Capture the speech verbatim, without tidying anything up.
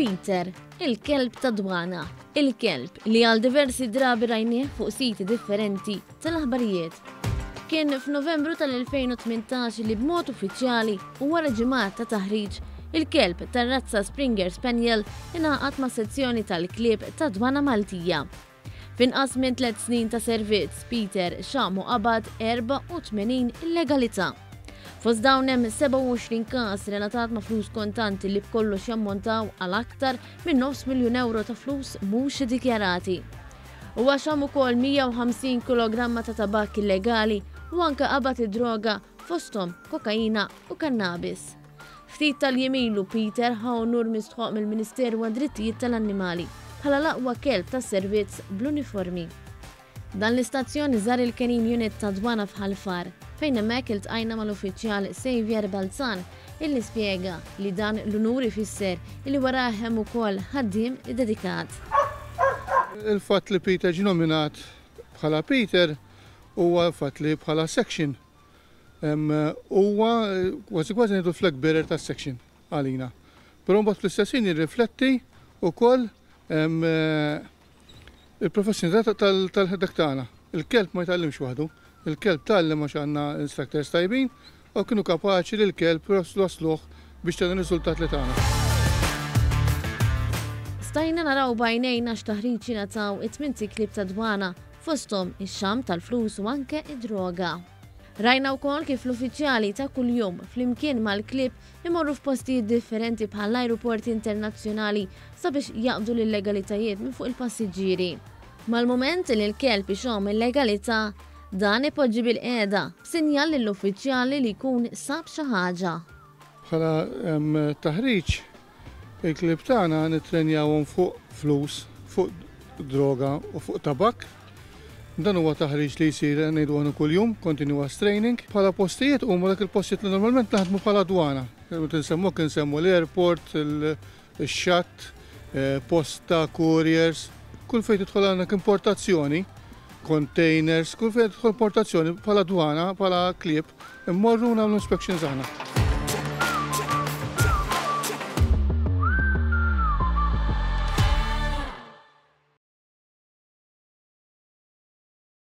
Peter, il-kelb ta' dwana, il-kelb li għal diversi drabi rajnieh fuq siti differenti tal-aħbarijiet. Kien f'Novembru tal-elfejn u tmintax li b'mod uffiċjali u wara ġimgħat ta' taħriġ, il-kelb tar-razza Springer Spaniel ingħaqad ma' sezzjoni tal-klieb ta' dwana Maltija. F'inqas minn tliet snin ta' servizz, Peter xamu qabad erbgħa u tmenin illegalità. Fost dawn hemm sebgħa u għoxrin każ relatat ma' flus kontanti li b'kollox jammontaw għal aktar minn nofs miljun euro ta' flus mhux iddikjarati. Huwa xam ukoll mija u ħamsin kilogramma ta' tabak illegali u anke qabad id-droga fosthom kokaina u kannabis. Ftit tal-jiem ilu Peter ħa onur mistħoq mill-Ministeru għad-Drittijiet tal-Annimali bħala l-aqwa kelb tas-servizz bl-uniformi. Dan l-istazzjon żar il-Canine Unit ta' Dwana f'Ħal Far, fejn hemmhekk iltqajna mal-uffiċjal Xavier Balzan illi spjega li dan l-unur ifisser illi warah hemm ukoll ħaddiem iddedikat. Il-fatt li Peter ġie nominat bħala Peter huwa l-fatt li bħala section huwa kważi kważi ngħidu flag bearer tas-section għalina. Però mbagħad fl-istess ħin jirrifletti wkoll il-professjonalità tal-ħedek tagħna. Il-kelb ma jitgħallimx waħdu, il-kelb tgħallem għax għandna instructors tajbin u kienu kapaċi li l-kelb wasluh biex tagħna riżultat li tagħna. Stajna naraw b'għajnejna x'taħriġ jingħataw it-tmien klieb ta' dwana fosthom ix-xam tal-flus u anke id-droga. Rajna wkoll kif l-uffiċjali ta' kuljum flimkien mal-klieb imorru f'postijiet differenti bħall-ajruporti internazzjonali sabiex jaqbdu l-illegalitajiet minn fuq il-passiġġieri. Mal-moment li l-kelb ixomm illegalità, dan ipoġġi bil-qiegħda b'sinjal lill-uffiċjali li jkun sab xi ħaġa. Bħala, em, taħriġ, il-klieb tagħna nittrenjawhom fuq flus, fuq droga u fuq tabak. Dan huwa taħriġ li jsir ngħidu għanu kuljum, continuous training. Bħala postijiet huma dak il-postijiet li normalment naħdmu bħala dwana. Nsemmu kien nsemmu l-airport, il-xatt, eh, posta, couriers, kull fejn tidħol għandek importazzjoni, containers, kull fejn tidħol importazzjoni bħala dwana, bħala klieb, immorru nagħmlu inspections aħna.